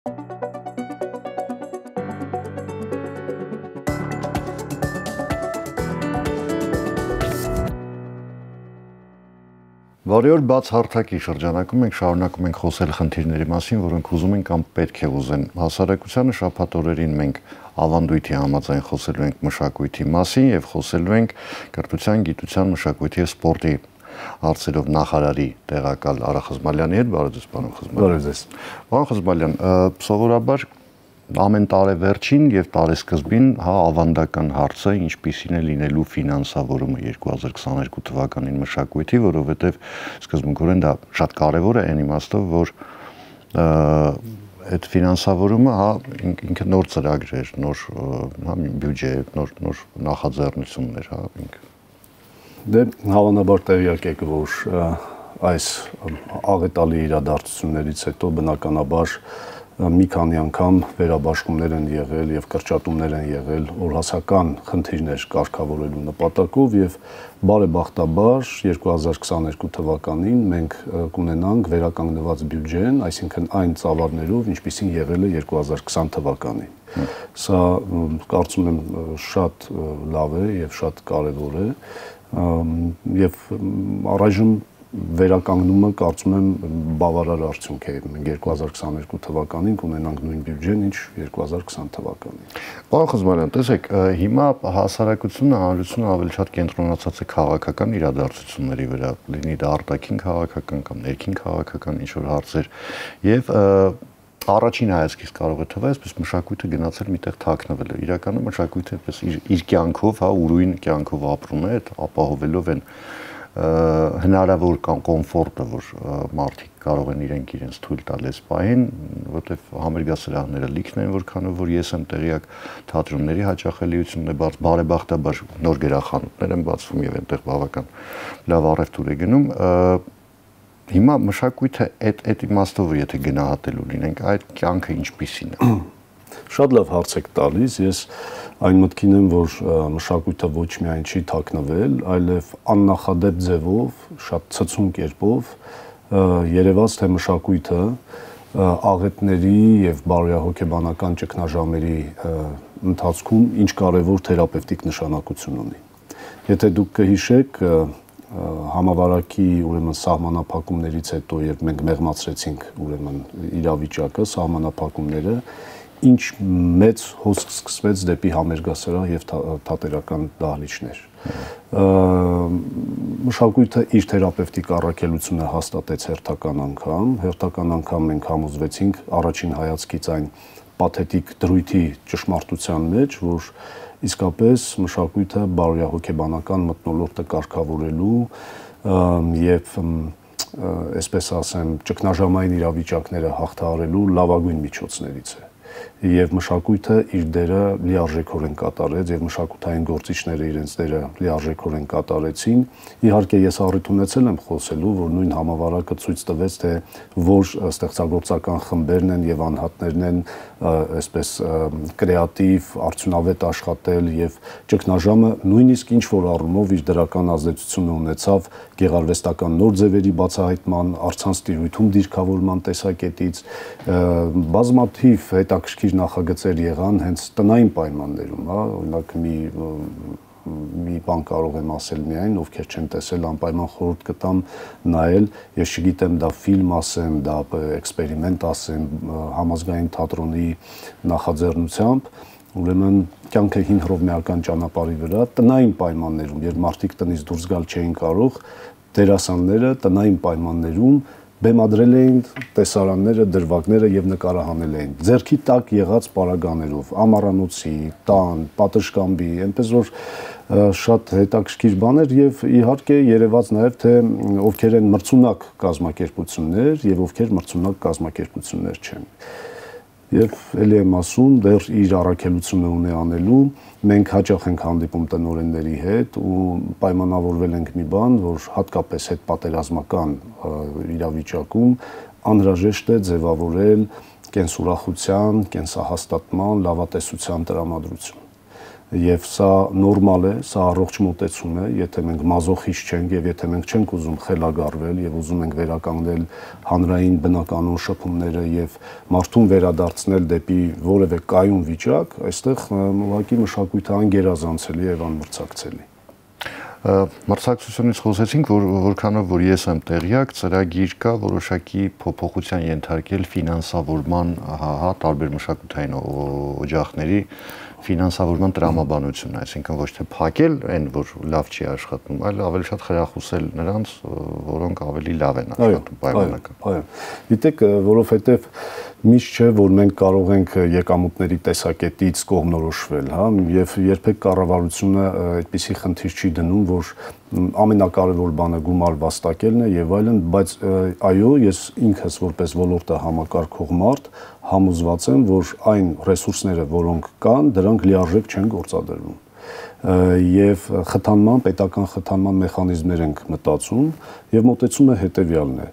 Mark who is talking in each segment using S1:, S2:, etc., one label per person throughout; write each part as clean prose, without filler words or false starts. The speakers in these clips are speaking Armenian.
S1: Բարի օր, բաց հարթակի շրջանակում մենք շարունակում ենք խոսել խնդիրների մասին, որոնք ուզում են կամ պետք է ուզեն հասարակությանը։ Շաբաթ օրերին մենք ավանդույթի համաձայն խոսելու ենք մշակույթի մասին եւ խոսելու ենք կրթության, գիտության, մշակույթի եւ սպորտի հարցերով նախարարի տեղակալ Արա Խզմալյանի հետ։ Բարև ձեզ, պարոն Խզմալյան։
S2: Բարև ձեզ։
S1: Պարոն Խզմալյան, սովորաբար ամեն տարեվերջին եւ տարեսկզբին ավանդական հարցը ինչպիսին է լինելու ֆինանսավորումը 2022 թվականին մշակույթի, որովհետեւ սկզբունքորեն դա շատ կարեւոր է այն իմաստով, որ այդ ֆինանսավորումը ինքը նոր ծրագրեր, նոր բյուջե, նոր նախաձեռնություններ, ինքը։
S2: Դե հավանաբար տեղյակ եք, որ այս աղետալի իրադարձություններից հետո բնականաբար մի քանի անգամ վերաբաշխումներ են եղել եւ կրճատումներ են եղել օրհասական խնդիրներ կարգավորելու նպատակով եւ բարեբախտաբար 2022 թվականին մենք կունենանք վերականգնված բյուջեն, այսինքն այն ծավալներով, ինչպիսին եղել է 2020 թվականին։ Սա կարծում եմ շատ լավ է եւ շատ կարեւոր է եւ առայժմ վերականգնումը կարծում եմ բավարար արդյունք է։ Մենք 2022 թվականին կունենանք նույն բյուջեն, ինչ 2020 թվականին։
S1: Պարոն Խզմալյան, տեսեք, հիմա հասարակությունը, հանրությունը ավելի շատ կենտրոնացած է քաղաքական իրադարձությունների վրա, լինի դա արտաքին քաղաքական կամ ներքին քաղաքական ինչ-որ հարցեր, եւ առաջին հայացքից կարող է թվալ, այսպես մշակույթը գնացել միտեղ թաքնվել է։ Իրականում մշակույթը այսպես իր կյանքով, ուրույն կյանքով ապրում է, այդ ապահովելով են հնարավոր կոմֆորտը, որ մարդիկ կարող են իրենց թույլ տալ այս պահին, որտեղ համերգասրահները լիքն են, որքանով որ ես եմ տեղյակ, թատրոնների հաճախելիությունն է բարեբախտաբար նոր գրախանութներ են բացվում եւ այնտեղ բավական լավ առևտուր է գնում։ Հիմա մշակույթը այդ իմաստով եթե գնահատելու լինենք, այդ կյանքը ինչպիսին է։
S2: Շատ լավ հարց եք տալիս, ես այն մտքին եմ, որ մշակույթը ոչ միայն չի թաքնվել, այլև աննախադեպ ձևով, շատ ցցուն կերպով երևաց, թե մշակույթը աղետների եւ բարոյահոգեբանական ճգնաժամերի ընթացքում ինչ կարեւոր թերապևտիկ նշանակություն ունի։ Եթե դուք կհիշեք, համավարակի ուրեմն սահմանափակումներից հետո, երբ մենք մեղմացրեցինք ուրեմն իրավիճակը, սահմանափակումները, ինչ մեծ հոսք սկսվեց դեպի համերգասրահ եւ թատերական դահլիճներ։ Մշակույթը իր թերապևտիկ առաքելությունը հաստատեց հերթական անգամ մենք համոզվեցինք առաջին հայացքից այն պաթետիկ դրույթի ճշմարտության մեջ, որ իսկապես մշակույթը բարոյահոգեբանական մթնոլորտը կարգավորելու եւ այսպես ասեմ, ճգնաժամային իրավիճակները հաղթահարելու լավագույն միջոցներից է։ Եվ մշակույթը իր դերը լիարժեքորեն կատարեց եւ մշակութային գործիչները իրենց դերը լիարժեքորեն կատարեցին։ Իհարկե ես առիթ ունեցել եմ խոսելու, որ նույն համավարակը ցույց տվեց, թե որ ստեղծագործական խմբերն են եւ անհատներն են այսպես կրեատիվ, արդյունավետ աշխատել եւ ճգնաժամը նույնիսկ ինչ որ առումով իր դրական ազդեցությունը ունեցավ գեղարվեստական նոր ձևերի բացահայտման, առցանց տիրույթում դիրքավորման տեսակետից, բազմաթիվ հետաքրքիր նախագծեր եղան հենց տնային պայմաններում, օրինակ մի բան կարող եմ ասել միայն, ովքեր չեն տեսել, անպայման խորհուրդ կտամ նայել, ես չգիտեմ դա ֆիլմ ասեմ, դա էքսպերիմենտ ասեմ, համազգային թատրոնի նախաձեռնությամբ, ուրեմն կյանքը հին հռովմեական ճանապարհի վրա, տնային պայմաններում, երբ մարդիկ տնից դուրս գալ չէին կարող, դերասանները տնային պայմաններում բեմադրել էին տեսարանները, դրվագները եւ նկարահանել էին ձեռքի տակ եղած պարագաներով, ամառանոցի, տան, պատշգամբի, այնպես որ շատ հետաքրքիր բաներ եւ իհարկե երևաց նաեւ թե ովքեր են մրցունակ կազմակերպություններ եւ ովքեր մրցունակ կազմակերպություններ չեն։ Եվ ելի եմ ասում, դեռ իր առաքելությունը ունի անելու, մենք հաճախ ենք հանդիպում տնօրենների հետ ու պայմանավորվել ենք մի բան, որ հատկապես հետպատերազմական իրավիճակում անհրաժեշտ է ձևավորել կենսուրախության, կենսահաստատման, լավատեսության տրամադրություն։ Եվ սա նորմալ է, սա առողջ մոտեցում է, եթե մենք մազոխիստ չենք եւ եթե մենք չենք ուզում խելագարվել եւ ուզում ենք վերականգնել հանրային բնականոն շփումները եւ մարդուն վերադարձնել դեպի որևէ կայուն վիճակ, այստեղ ուղղակի մշակույթը անգերազանցելի եւ անմրցակցելի։
S1: Մրցակցությունից խոսեցինք, որքանով որ ես եմ տեղյակ, ծրագիր կա որոշակի փոփոխության ենթարկել ֆինանսավորման, տարբեր մշակութային օջախների ֆինանսավորման տրամաբանությունը, այսինքն ոչ թե փակել այն, որ լավ չի աշխատում, այլ ավելի շատ խրախուսել նրանց, որոնք ավելի լավ են աշխատում պայմանական։
S2: Այո, գիտեք, որովհետև միշտ չէ, որ մենք կարող ենք եկամուտների տեսակետից կողմնորոշվել, հա, եւ երբեք կառավարությունը այդպիսի խնդիր չի դնում, որ ամենակարևոր բանը գումար վաստակելն է եւ այլն, բայց այո, ես ինքս որպես ոլորտը համակարգող մարդ համոզված եմ, որ այն ռեսուրսները, որոնք կան, դրանք լիարժեք չեն գործադրվում։ Եվ խթանման, պետական խթանման մեխանիզմներ ենք մտածում եւ մոտեցումը հետեւյալն է։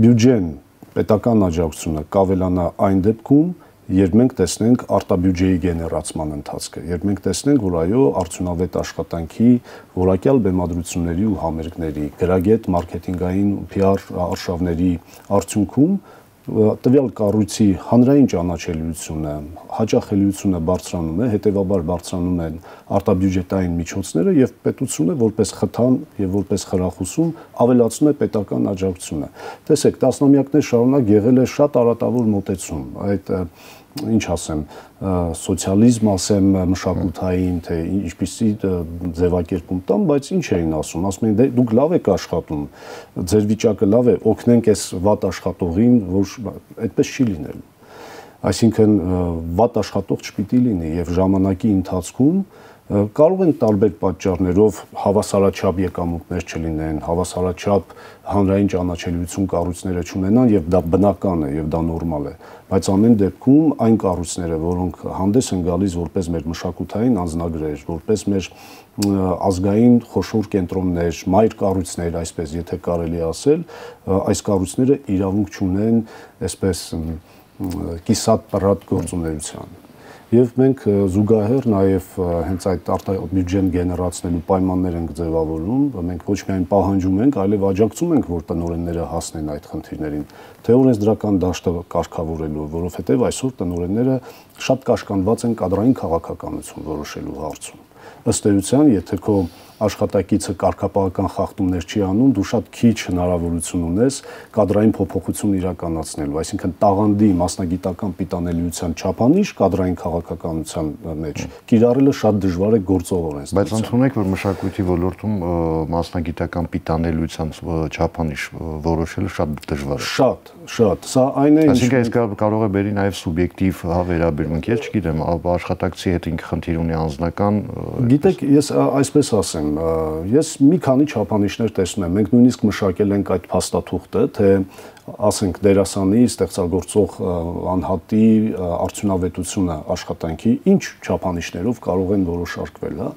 S2: Բյուջեն, պետական աջակցությունը կավելանա այն դեպքում, երբ մենք տեսնենք արտաբյուջեի գեներացման ընթացքը, երբ մենք տեսնենք, որ այո, արդյունավետ աշխատանքի, որակյալ բեմադրությունների ու համերգների, գրագետ մարքեթինգային PR արշավների արդյունքում տվյալ կառույցի հանրային ճանաչելիությունը, հաճախելիությունը բարձրանում է, հետևաբար բարձրանում են արտաբյուջետային միջոցները եւ պետությունը որպես խթան եւ որպես խրախուսում ավելացնում է պետական աջակցությունը։ Տեսեք, տասնամյակներ շարունակ եղել է շատ արատավոր մոտեցում, այդ ինչ ասեմ, սոցիալիզմ ասեմ, մշակութային, թե ինչպիսի ձևակերպում տամ, բայց ինչ էին ասում, ասում են դուք լավ եք աշխատում, ձեր վիճակը լավ է, օգնենք այս վատ աշխատողին, որ այդպես չի լինելու։ Այսինքն վատ աշխատող չպիտի լինի եւ ժամանակի ընթացքում կարող են տարբեր պատճառներով հավասարաչափ եկամուտներ չլինեն, հավասարաչափ հանրային ճանաչելիություն կառույցները չունենան եւ դա բնական է եւ դա նորմալ է, բայց ամեն դեպքում այն կառույցները, որոնք հանդես են գալիս որպես մեր մշակութային անձնագրեր, որպես մեր ազգային խոշոր կենտրոններ, մայր կառույցներ, այսպես եթե կարելի ասել, այս կառույցները իրավունք չունեն այսպես կիսատ պռատ գործունեության։ Եվ մենք զուգահեռ նաև հենց այդ արտաբյուջեն գեներացնելու պայմաններ ենք ձևավորում, մենք ոչ միայն պահանջում ենք, այլև աջակցում ենք, որ տնօրենները հասնեն այդ խնդիրներին, թե օրենսդրական դաշտը կարգավորելու, որովհետև այսօր տնօրենները շատ կաշկանդված են կադրային քաղաքականություն որոշելու հարցում։ Ըստ էության, եթե քո աշխատակիցը կարգապահական խախտումներ չի անում, դու շատ քիչ հնարավորություն ունես կադրային փոփոխություն իրականացնելու, այսինքն տաղանդի մասնագիտական պիտանելիության չափանիշ կադրային քաղաքականության մեջ կիրառելը շատ դժվար է գործող օրենսդրությամբ։
S1: Բայց ընդունեք, որ մշակույթի ոլորտում մասնագիտական պիտանելիության չափանիշ որոշելը շատ դժվար է։
S2: Շատ, սա այն է,
S1: այսինքն այս կարող է բերի նաև սուբյեկտիվ վերաբերմունք, ես չգիտեմ, աշխատակցի հետ ինքը խնդիր ունի անձնական։
S2: Գիտեք, ես այսպես ասեմ, ես մի քանի չափանիշներ տեսնում եմ, մենք նույնիսկ մշակել ենք այդ փաստաթուղթը, թե ասենք դերասանի ստեղծագործող անհատի արդյունավետությունը աշխատանքի ինչ չափանիշներով կարող են որոշարկվել, հա։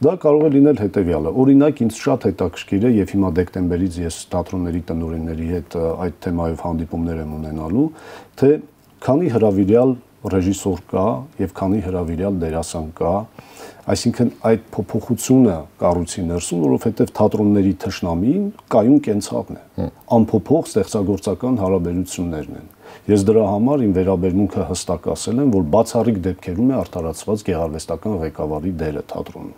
S2: Դա կարող է լինել հետեւյալը։ Օրինակ, ինձ շատ հետաքրքիր է եւ հիմա դեկտեմբերից ես թատրոնների տնօրենների հետ այդ թեմայով հանդիպումներ եմ ունենալու, թե քանի հրավիրյալ ռեժիսոր կա եւ քանի հրավիրյալ դերասան կա, այսինքն այդ փոփոխությունը կառույցի ներսում, որովհետեւ թատրոնների թշնամին կայուն կենցաղն է, անփոփոխ ստեղծագործական հարաբերություններն են։ Ես դրա համար իմ վերաբերմունքը հստակ ասել եմ, որ բացառիկ դեպքերում է արդարացված գեղարվեստական ղեկավարի դերը թատրոնում,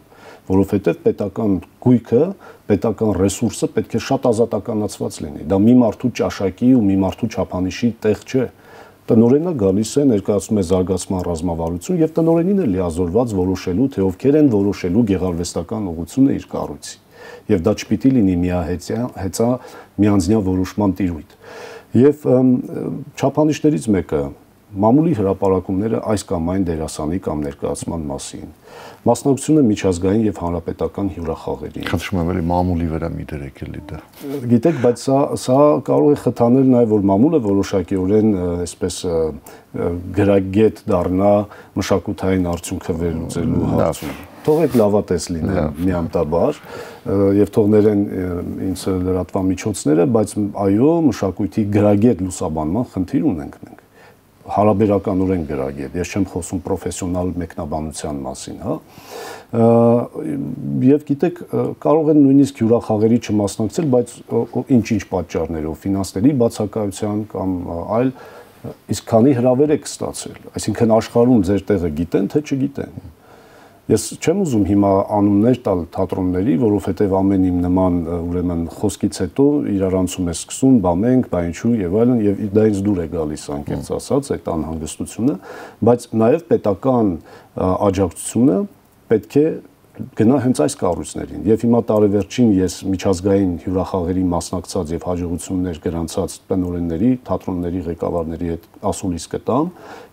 S2: որովհետեւ պետական գույքը, պետական ռեսուրսը պետք է շատ ազատականացված լինի։ Դա մի մարդու ճաշակի ու մի մարդու չափանիշի տեղ չէ։ Տնօրենը գալիս է, ներկայացնում է զարգացման ռազմավարություն եւ տնօրենին է լիազորված որոշելու, թե ովքեր են որոշելու գեղարվեստական ուղղությունը իր կառույցի։ Եվ դա չպիտի լինի միահեծա միանձնյա որոշման տիրույթ։ Եվ չափանիշներից մեկը մամուլի հրապարակումները այս կամ այն դերասանի կամ ներկայացման մասին, մասնակցությունը միջազգային եւ հանրապետական հյուրախաղերի։
S1: Խնդրում եմ, էլի մամուլի վրա մի դրեք էլի դա։
S2: Գիտեք, բայց սա կարող է խթանել նաեւ, որ մամուլը որոշակիորեն այսպես գրագետ դառնա մշակութային արդյունքը վերլուծելու հարցում։ Թողեք լավատես լինեն միամտաբար եւ թողներեն ինձ լրատվամիջոցները, բայց այո, մշակույթի գրագետ լուսաբանման խնդիր ունենք մենք։ հարաբերականորեն գրագետ, ես չեմ խոսում պրոֆեսիոնալ մեկնաբանության մասին, հա։ Եվ գիտեք, կարող են նույնիսկ հյուրախաղերի չմասնակցել, բայց ինչ-ինչ պատճառներով, ֆինանսների բացակայության կամ այլ, իսկ քանի հրավեր եք ստացել, այսինքն աշխարհում ձեր տեղը գիտեն, թե չգիտեն։ Ես չեմ ուզում հիմա անուններ տալ թատրոնների, որովհետև ամեն իմ նման ուրեմն խոսքից հետո իրարանցում է սկսում, բա մենք, բա ինչու եւ այլն, եւ դա ինձ դուր է գալիս անկեղծ ասած այդ անհանգստությունը, բայց նաեւ պետական աջակցությունը պետք է գնա հենց այս կառույցներին։ Եվ հիմա տարեվերջին ես միջազգային հյուրախաղերի մասնակցած եւ հաջողություններ գրանցած տնօրենների, թատրոնների ղեկավարների հետ ասուլիս կտամ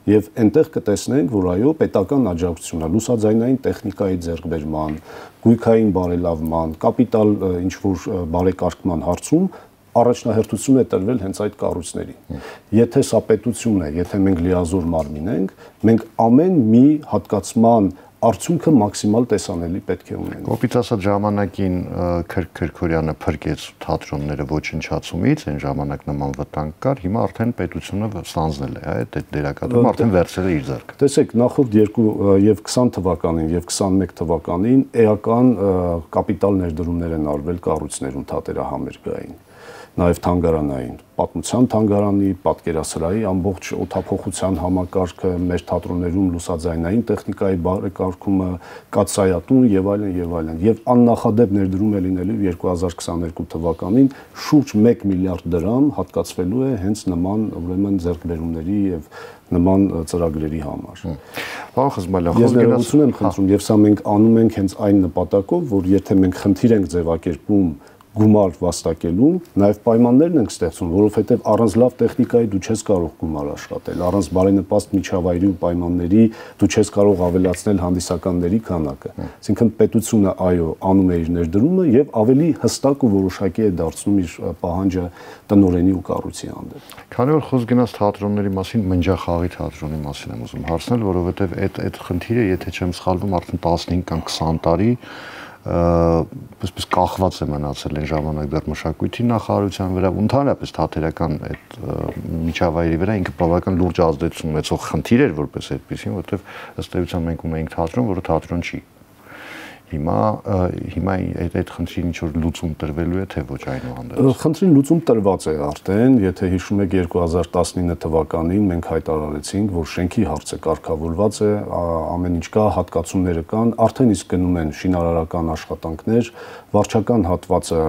S2: եւ այնտեղ կտեսնենք, որ այո, պետական աջակցությունը լուսաձայնային տեխնիկայի ձեռքբերման, գույքային բարելավման, կապիտալ ինչ որ բարեկարգման հարցում առաջնահերթություն է տրվել հենց այդ կառույցներին։ Եթե սա պետություն է, եթե մենք լիազոր մարմին ենք, մենք ամեն մի հատկացման արդյունքը մաքսիմալ տեսանելի պետք է ունենա։
S1: Կոպիտ ասած ժամանակին Քրքորյանը փրկեց թատրոնները ոչնչացումից, այն ժամանակ նման վտանգ կար, հիմա արդեն պետությունը ստանձնել է, այդ դերակատարումը արդեն վերցրել է իր ձեռքը։
S2: Տեսեք, նախորդ եւ 20 թվականին եւ 21 թվականին էական կապիտալ ներդրումներ են արվել կառույցներում թատերահամերգային, նաև թանգարանային, պատմության թանգարանի, պատկերասրահի ամբողջ օդափոխության համակարգը, մեր թատրոններում լուսաձայնային տեխնիկայի բարեկարգումը, կաթսայատուն եւ այլն եւ այլն։ Եվ աննախադեպ ներդրում է լինելու 2022 թվականին շուրջ 1 միլիարդ դրամ հատկացվելու է հենց նման ուրեմն ձեռքբերումների եւ նման ծրագրերի համար։
S1: Պարոն Խզմալյան,
S2: ես ներողություն եմ խնդրում, եւ սա մենք անում ենք հենց այն նպատակով, որ եթե մենք խնդիր ենք ձևակերպում գումար վաստակելու, նաև պայմաններն ենք ստեղծում, որովհետև առանց լավ տեխնիկայի դու չես կարող գումար աշխատել, առանց բարենպաստ միջավայրի ու պայմանների դու չես կարող ավելացնել հանդիսականների քանակը։ Այսինքն պետությունը այո անում է իր ներդրումը եւ ավելի հստակ ու որոշակի է դարձնում իր պահանջը տնօրենի ու կառույցի հանդեպ։
S1: Քանի որ խոսք գնաց թատրոնների մասին, Մնջախաղի թատրոնի մասին եմ ուզում հարցնել, որովհետև այդ խնդիրը, եթե չեմ սխալվում, արդեն 15 կամ 20 տարի այսպես կախված է մնացել այն ժամանակ դեռ մշակույթի նախարարության վրա, ընդհանրապես թատերական այդ միջավայրի վրա ինքը բավական լուրջ ազդեցություն ունեցող խնդիր էր որպես այդպեսին, որովհետև ըստ էության մենք ունեինք թատրոն, որը թատրոն չի։ Հիմա այդ խնդրին ինչ որ լուծում տրվելու է, թե ոչ այնուհանդերձ։
S2: Խնդրին լուծում տրված է արդեն, եթե հիշում եք 2019 թվականին մենք հայտարարեցինք, որ շենքի հարցը կարգավորված է, ամեն ինչ կա, հատկացումները կան, արդեն իսկ գնում են շինարարական աշխատանքներ, վարչական հատվածը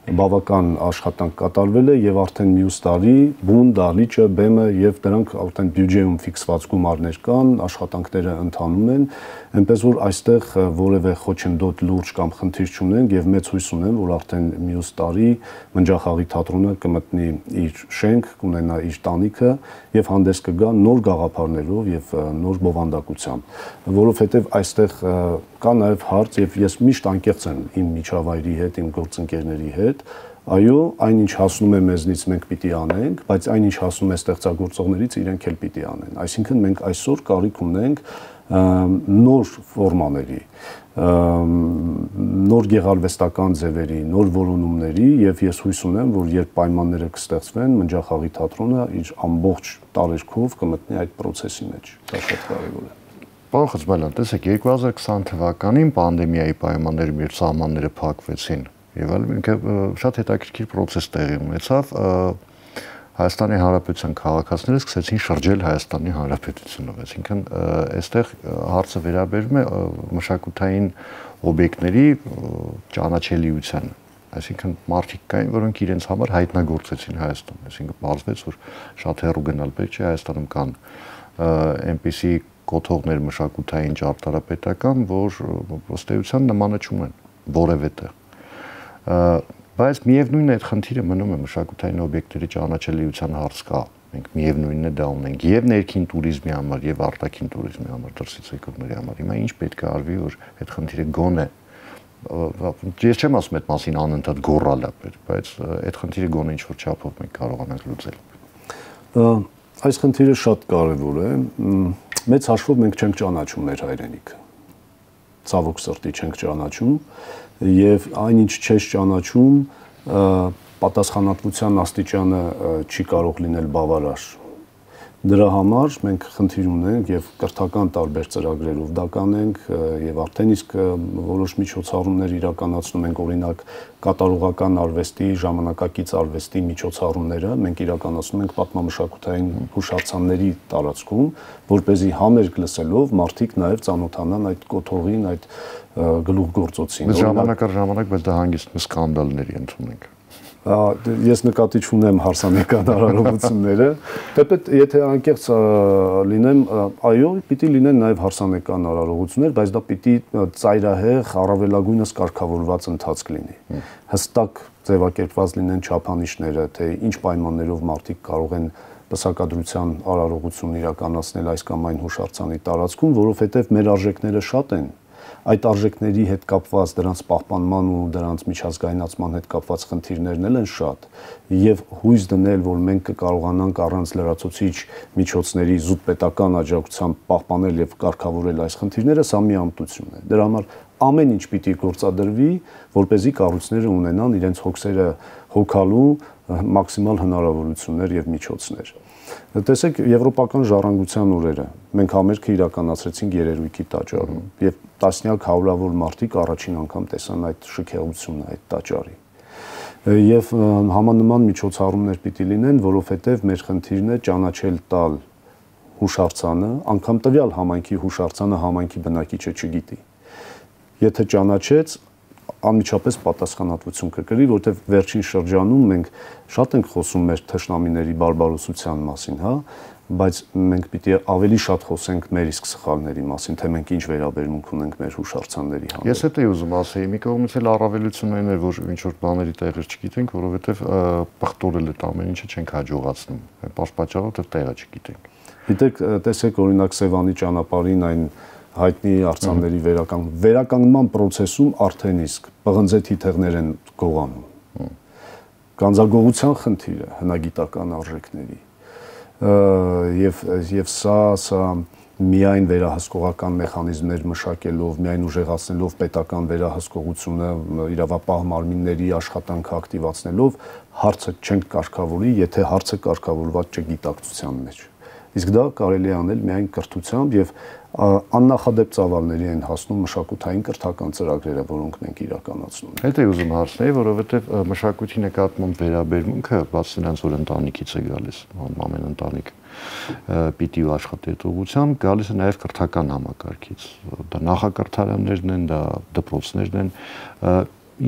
S2: բավական աշխատանք կատարվել է եւ արդեն մյուս տարի բուն, դահլիճը, բեմը եւ դրանք արդեն բյուջեում ֆիքսված գումարներ կան, աշխատանքները ընթանում են, այնպես որ այստեղ որևէ խոչընդոտ լուրջ կամ խնդիր չունենք եւ մեծ հույս ունեմ, որ արդեն մյուս տարի Մնջախաղի թատրոնը կմտնի իր շենք, կունենա իր տանիքը եւ հանդես կգա նոր գաղափարներով եւ նոր բովանդակությամբ, որովհետեւ այստեղ կա նաեւ հարց եւ ես միշտ անկեղծ եմ իմ միջավայրի հետ, իմ գործընկերների հետ, այո, այնինչ հասնում է մեզնից մենք պիտի անենք, բայց այնինչ հասնում է ստեղծագործողներից իրենք էլ պիտի անեն։ Այսինքն մենք այսօր կարիք ունենք նոր ֆորմաների, նոր գեղարվեստական ձևերի, նոր որոնումների եւ ես հույս ունեմ, որ երբ պայմանները կստեղծվեն, Մնջախաղի թատրոնը իր ամբողջ տարերքով կմտնի այդ process-ի մեջ։ Դա շատ կարեւոր է։
S1: Պարոն Խզմալյան, տեսեք 2020 թվականին պանդեմիայի պայմաններում երբ սահմանները փակվեցին եւ այլն ինքը շատ հետաքրքիր process տեղի ունեցավ, Հայաստանի Հանրապետության քաղաքացիները սկսեցին շրջել Հայաստանի Հանրապետությունով, այսինքն այստեղ հարցը վերաբերում է մշակութային օբյեկտների ճանաչելիությանը, այսինքն մարդիկ կային, որոնք իրենց համար հայտնագործեցին Հայաստան, այսինքն պարզվեց, որ շատ հեռու գնալ պետք չէ, Հայաստանում կան այնպիսի կոթողներ մշակութային ճարտարապետական, որ ըստ էության նմանը չունեն որևէ տեղ։ Բայց միևնույնն է այդ խնդիրը մնում է մշակութային օբյեկտների ճանաչելիության հարց կա։ Մենք միևնույնն է դա ունենք եւ ներքին туриզմի համար եւ արտաքին туриզմի համար, դրսից եկողների համար։ Հիմա ինչ պետք է արվի, որ այդ խնդիրը գոնե ես չեմ ասում այդ մասին անընդհատ գոռալ է, բայց այդ խնդիրը գոնե ինչ որ չափով մենք կարողանանք լուծել։
S2: Այս խնդիրը շատ կարեւոր է։ Մեծ հաշվով մենք չենք ճանաչում մեր հայրենիքը։ Ցավոք սրտի չենք ճանաչում եւ այնինչ չես ճանաչում պատասխանատվության աստիճանը չի կարող լինել բավարար Դրա համար մենք խնդիր ունենք եւ կրթական տարբեր ծրագրերով դա կանենք եւ արդեն իսկ որոշ միջոցառումներ իրականացնում ենք, օրինակ կատարողական արվեստի, ժամանակակից արվեստի միջոցառումները մենք իրականացնում ենք պատմամշակութային հուշարձանների տարածքում, որ เป զի համերգ լսելով մարդիկ նաեւ ծանոթանան այդ կոթողին, այդ գլուխգործոցին։
S1: Ժամանակ առ ժամանակ բայց դա հանգիստ սկանդալների ընդունենք։
S2: Ես նկատի չունեմ հարսանեկան արարողությունները, թեպետ եթե անկեղծ լինեմ, այո, պիտի լինեն նաև հարսանեկան արարողություններ, բայց դա պիտի ծայրահեղ, առավելագույնս կարգավորված ընթացք լինի։ Հստակ ձևակերպված լինեն չափանիշները, թե ինչ պայմաններով մարդիկ կարող են պսակադրության արարողություն իրականացնել այս կամ այն հուշարձանի տարածքում, որովհետև մեր արժեքները շատ են։ Այդ արժեքների հետ կապված դրանց պահպանման ու դրանց միջազգայնացման հետ կապված խնդիրներն են շատ եւ հույս դնել, որ մենք կկարողանանք առանց լրացուցիչ միջոցների զուտ պետական աջակցությամբ պահպանել եւ կարգավորել այս խնդիրները, սա մի ամտություն է։ Դրա համար ամեն ինչ պիտի գործադրվի, որպեսզի կառույցները ունենան իրենց հոգսերը հոգալու մաքսիմալ հնարավորություններ եւ միջոցներ։ Տեսեք, եվրոպական ժառանգության օրերը մենք համերգը իրականացրեցինք Երերույթի տաճարում եւ տասնյակ հարյուրավոր մարդիկ առաջին անգամ տեսան այդ շքեղությունը, այդ տաճարի։ Եվ համանման միջոցառումներ պիտի լինեն, որովհետեւ մեր խնդիրն է ճանաչել տալ հուշարձանը, անգամ տվյալ համայնքի հուշարձանը համայնքի բնակիչը չգիտի։ Եթե ճանաչեց, անմիջապես պատասխանատվություն կկրի, որտեղ վերջին շրջանում մենք շատ ենք խոսում մեր թշնամիների բարբարոսության մասին, հա, բայց մենք պիտի ավելի շատ խոսենք մեր իսկ սխալների մասին, թե մենք ինչ վերաբերմունք ունենք մեր հուշարձանների հանդեպ։
S1: Ես դա ուզում ասեի, մի կողմից էլ առավելությունն է, որ ինչ որ բաների տեղեր չգիտենք, որովհետև պղտորել այդ ամեն ինչը չենք հաջողացնում։ Այս պատճառով դեռ տեղը չգիտենք։
S2: Գիտեք, տեսեք օրինակ Սևանի ճանապարհին այն հայտնի արձանների վերականգնման process-ում արդեն իսկ պղնձե թիթեղներ են գողանում։ Կանձագողության խնդիրը հնագիտական արժեքների եւ սա միայն վերահսկողական մեխանիզմներ մշակելով, միայն ուժեղացնելով պետական վերահսկողությունը, իրավապահ մարմինների աշխատանքը ակտիվացնելով հարցը չենք կարգավորի, եթե հարցը կարգավորված չէ գիտակցության մեջ։ Իսկ դա կարելի է անել միայն կրթությամբ եւ աննախադեպ ծավալների են հասնում մշակութային կրթական ծրագրերը, որոնք մենք իրականացնում ենք։
S1: Դա ուզում հարցնել, որովհետեւ մշակույթի նկատմամբ վերաբերմունքը, բաց նրանց որ ընտանիքից է գալիս, ամեն ընտանիք պիտի աշխատի այդ ուղղությամբ, գալիս է նաեւ կրթական համակարգից։ Դա նախակրթարաններն են, դա դպրոցներն են,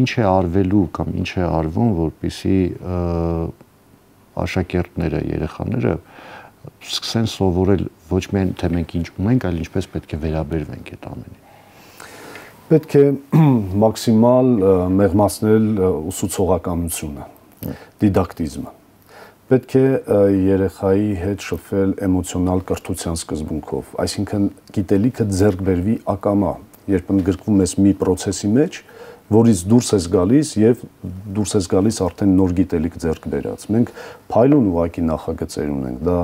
S1: ինչ է արվելու կամ ինչ է արվում, որպեսզի աշակերտները, երեխաները սկսեն սովորել ոչ միայն թե մենք ինչ ունենք, այլ ինչպես պետք է վերաբերվենք այդ ամենին։
S2: Պետք է մաքսիմալ մեղմացնել ուսուցողականությունը, դիդակտիզմը։ Պետք է երեխայի հետ շփվել էմոցիոնալ կրթության սկզբունքով, այսինքն գիտելիքը ձեռք բերվի ակամա, երբ ընդգրկվում ես մի process-ի մեջ, որից դուրս ես գալիս եւ դուրս ես գալիս արդեն նոր գիտելիք ձեռք բերած։ Մենք փայլուն ուղակի նախագծեր ունենք։ Դա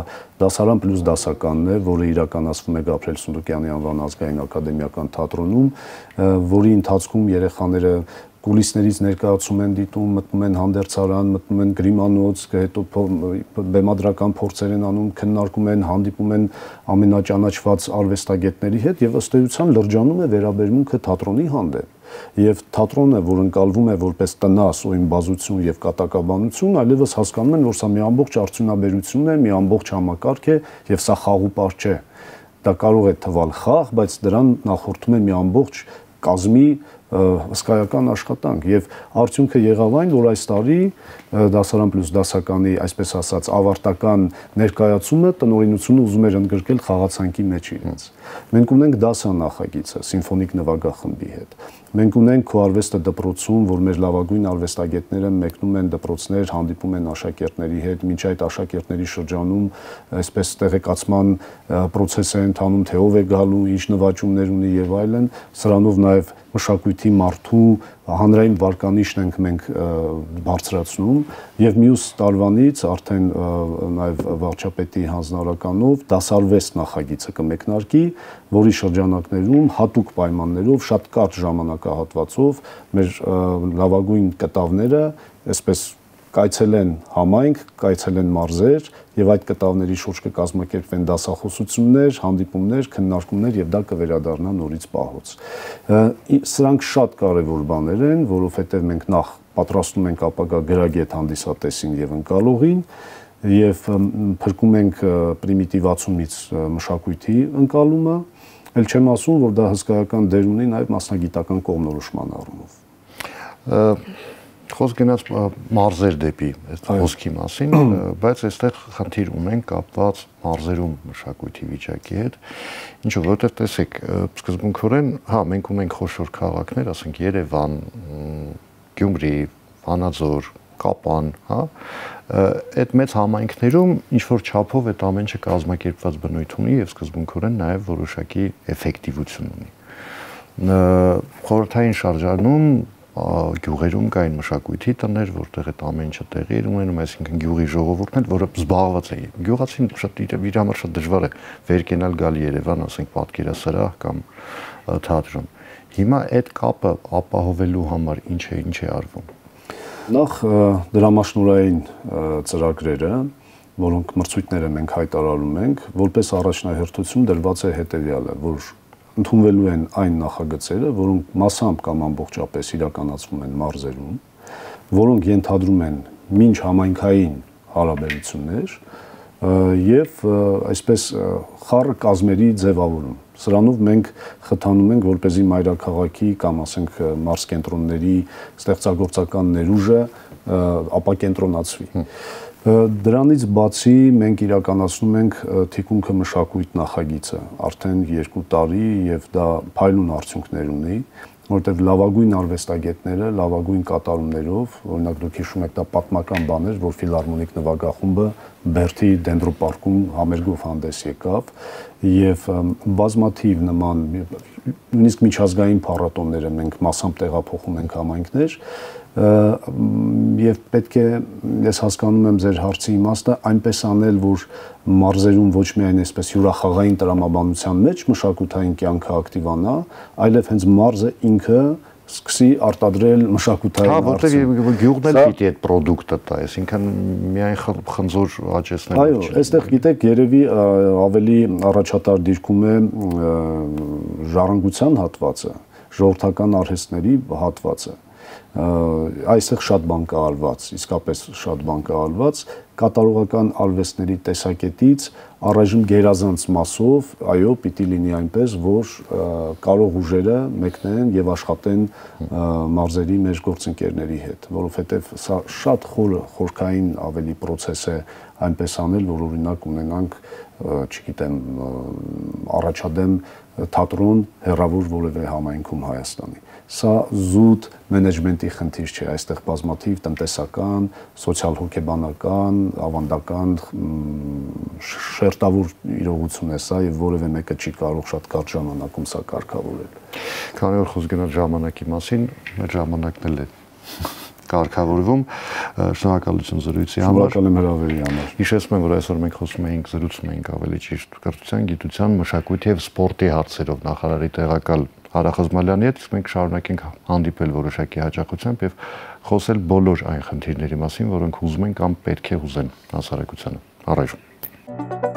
S2: դասարան պլյուս դասականն է, որը իրականացվում է Գաբրիել Սունդուկյանի անվան ազգային ակադեմիական թատրոնում, որի ընթացքում երեխաները կուլիսներից ներկայացում են դիտում, մտնում են հանդերձարան, մտնում են գրիմանոց, հետո բեմադրական փորձեր են անում, քննարկում են, հանդիպում են ամենաճանաչված արվեստագետների հետ եւ ըստ էության լրջանում է վերաբերմունքը թատրոնի հանդեպ։ Եվ թատրոնը, որ ընկալվում է որպես տնաս ու իմբազություն եւ կատակաբանություն, այլևս հասկանում են, որ սա մի ամբողջ արդյունաբերություն է, մի ամբողջ համակարգ է եւ սա խաղուպար չէ։ Դա կարող է թվալ խաղ, բայց դրան նախորդում է մի ամբողջ կազմի հսկայական աշխատանք եւ արդյունքը եղավ այն, որ այս տարի դասարան պլյուս դասականի, այսպես ասած, ավարտական ներկայացումը տնօրինությունը ուզում էր ընդգրկել խաղացանկի մեջ իրենց։ Մենք ունենք դասանախագիծը սիմֆոնիկ նվագախմբի հետ։ Մենք ունենք քոարվեստը դպրոցում, որ մեր լավագույն արվեստագետները մեկնում են դպրոցներ, հանդիպում են աշակերտների հետ, մինչ այդ աշակերտների շրջանում այսպես տեղեկացման process է ընթանում, թե ով է գալու, ինչ նվաճումներ ունի եւ այլն, սրանով նաեւ մշակույթի մարդու հանրային վարկանիշն ենք մենք բարձրացնում եւ մյուս տարվանից արդեն նաեւ վարչապետի հանձնարարականով դասարվեստ նախագիծը կմեկնարկի, որի շրջանակներում հատուկ պայմաններով շատ կարճ ժամանակահատվածով մեր լավագույն կտավները այսպես կայցելեն համայնք, կայցելեն մարզեր եւ այդ կտավների շուրջ կկազմակերպվեն դասախոսություններ, հանդիպումներ, քննարկումներ եւ դա կվերադառնա նորից պահոց։ Սրանք շատ կարեւոր բաներ են, որովհետեւ մենք նախ պատրաստում ենք ապագա գրագետ հանդիսատեսին եւ ընկալողին եւ փրկում ենք պրիմիտիվացումից մշակույթի ընկալումը, ել չեմ ասում, որ դա հսկայական դեր ունի նաեւ մասնագիտական կողմնորոշման առումով։
S1: Խոսք գնաց մարզեր դեպի այդ խոսքի մասին, բայց այստեղ խնդիր ունենք կապված մարզերում մշակույթի վիճակի հետ, ինչով որտեղ տեսեք, սկզբունքորեն, հա, մենք ունենք խոշոր քաղաքներ, ասենք Երևան, Գյումրի, Վանաձոր, Կապան, հա, այդ մեծ համայնքներում ինչ որ չափով այդ ամեն ինչը կազմակերպված բնույթ ունի եւ սկզբունքորեն նաեւ որոշակի էֆեկտիվություն ունի։ Խորհրդային շրջանում գյուղերում կային մշակույթի տներ, որտեղ այդ ամեն ինչը տեղի էր ունենում, այսինքն գյուղի ժողովուրդն էր, որը զբաղված է։ Գյուղացին շատ իր համար շատ դժվար է վեր կենալ գալ Երևան, ասենք պատկերասրահ կամ թատրոն։ Հիմա այդ կապը ապահովելու համար ինչ է արվում։
S2: Նախ դրամաշնորհային ծրագրերը, որոնք մրցույթները մենք հայտարարում ենք, որպես առաջնահերթություն դրված է հետևյալը, որ ընդունվելու են այն նախագծերը, որոնք մասամբ կամ ամբողջապես իրականացվում են մարզերում, որոնք ենթադրում են մինչ համայնքային հարաբերություններ եւ այսպես խառը կազմերի ձևավորում։ Սրանով մենք խթանում ենք, որպեսզի մայրաքաղաքի կամ ասենք մարզ կենտրոնների ստեղծագործական ներուժը ապակենտրոնացվի։ Դրանից բացի մենք իրականացնում ենք թիկունքը մշակույթ նախագիծը արդեն 2 տարի եւ դա փայլուն արդյունքներ ունի, որտեղ լավագույն արվեստագետները լավագույն կատարումներով, օրինակ դուք հիշում եք դա պատմական բան էր, որ ֆիլհարմոնիկ նվագախումբը Բերթի դենդրոպարկում համերգով հանդես եկավ եւ բազմաթիվ նման նույնիսկ միջազգային փառատոները մենք մասամբ տեղափոխում ենք համայնքներ եւ պետք է ես հասկանում եմ ձեր հարցի իմաստը այնպես անել, որ մարզերում ոչ միայն այսպես յուրախաղային տրամաբանության մեջ մշակութային կյանքը ակտիվանա, այլև հենց մարզը ինքը սկսի արտադրել մշակութային
S1: արդյունք։ Հա, որտեղ գյուղն էլ պիտի այդ պրոդուկտը տա, այսինքն միայն խնձոր աճեցնել։
S2: Այո, այստեղ գիտեք, երևի ավելի առաջատար դիրքում է ժառանգության հատվածը, ժողովրդական արհեստների հատվածը։ Այստեղ շատ բան կա արված, իսկապես շատ բան կա արված, կատարողական արվեստների տեսակետից առայժմ գերազանց մասով, այո, պիտի լինի այնպես, որ կարող ուժերը մեկնեն եւ աշխատեն մարզերի մեր գործընկերների հետ, որովհետեւ սա շատ խորքային ավելի process է այնպես անել, որ օրինակ ունենանք, չգիտեմ, առաջադեմ թատրոն հեռավոր որևէ համայնքում Հայաստանի։ Սա զուտ մենեջմենտի խնդիր չէ, այստեղ բազմաթիվ տնտեսական, սոցիալ-հոգեբանական, ավանդական շերտավոր իրողություն է սա եւ որևէ մեկը չի կարող շատ կարճ ժամանակում սա կարգավորել։
S1: Քանի որ խոսք գնալ ժամանակի մասին, մեր ժամանակն էլ է կարգավորվում, շնորհակալություն զրույցի համար։
S2: Շնորհակալ եմ հրավերի համար։
S1: Հիշեցնում եմ, որ այսօր մենք զրուցում էինք ավելի ճիշտ կրթության, գիտության, մշակույթի եւ սպորտի հարցերով նախարարի տեղակալ Արա Խզմալյանի հետ, իսկ մենք շարունակենք հանդիպել որոշակի հաճախությամբ եւ խոսել բոլոր այն խնդիրների մասին, որոնք հուզում են կամ պետք է հուզեն հասարակությանը։ Առայժմ